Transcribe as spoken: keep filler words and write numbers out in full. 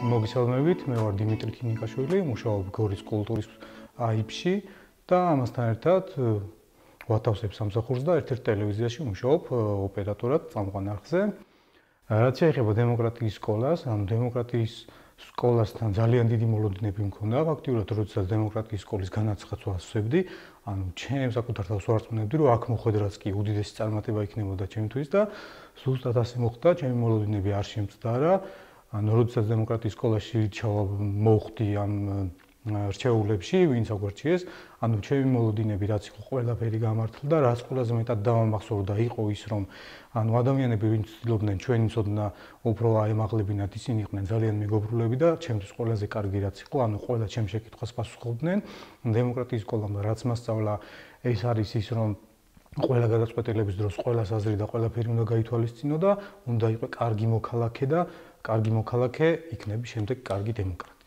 მოგესალმებით, მე ვარ დიმიტრი ქინიკაშვილი, მუშაობ გორის კულტურის აიფში და ამასთან ერთად ვათავსებ სამსახურს და ერთ-ერთ ტელევიზიაში მუშაობ ოპერატორად წამყვან არხზე. რაც შეეხება დემოკრატიის სკოლას, ანუ დემოკრატიის სკოლასთან ძალიან დიდი მოლოდინები მქონდა, ფაქტიურად როდესაც დემოკრატიის სკოლის განაცხადს ვასწრებდი, ანუ ჩემ საკუთარ თავს ვარწმუნებდი, რომ აქ მოხვედრაც კი უდიდესი წარმატება იქნებოდა ჩემთვის და ზუსტად ასე მოხდა, ჩემი მოლოდინები არ შემწყდარა. ანუ როდესაც დემოკრატიის სკოლაში მოვხდი ამ რჩეულებში, ვინც აგვარჩიეს, ანუ ჩემი მოლოდინები რაც იყო ყველაფერი გამართლა და რაც ყველაზე მეტად დავამახსოვრდა იყო ის, რომ ანუ ადამიანები ვინც ცდილობდნენ ჩვენი ცოდნა უფრო აემაღლებინათ, ისინი იყვნენ ძალიან მეგობრულები და ჩემთვის ყველაზე კარგი რაც იყო, ანუ ყველა ჩემ შეკითხვას პასუხობდნენ. დემოკრატიის სკოლამ რაც მასწავლა, ეს არის ის, რომ ყველა გადაწყვეტილების დროს ყველას აზრი და ყველაფერი უნდა გაითვალისწინო და უნდა იყოს კარგი მოქალაქე და კარგი მოქალაქე იქნება შემდეგ კარგი დემოკრატი.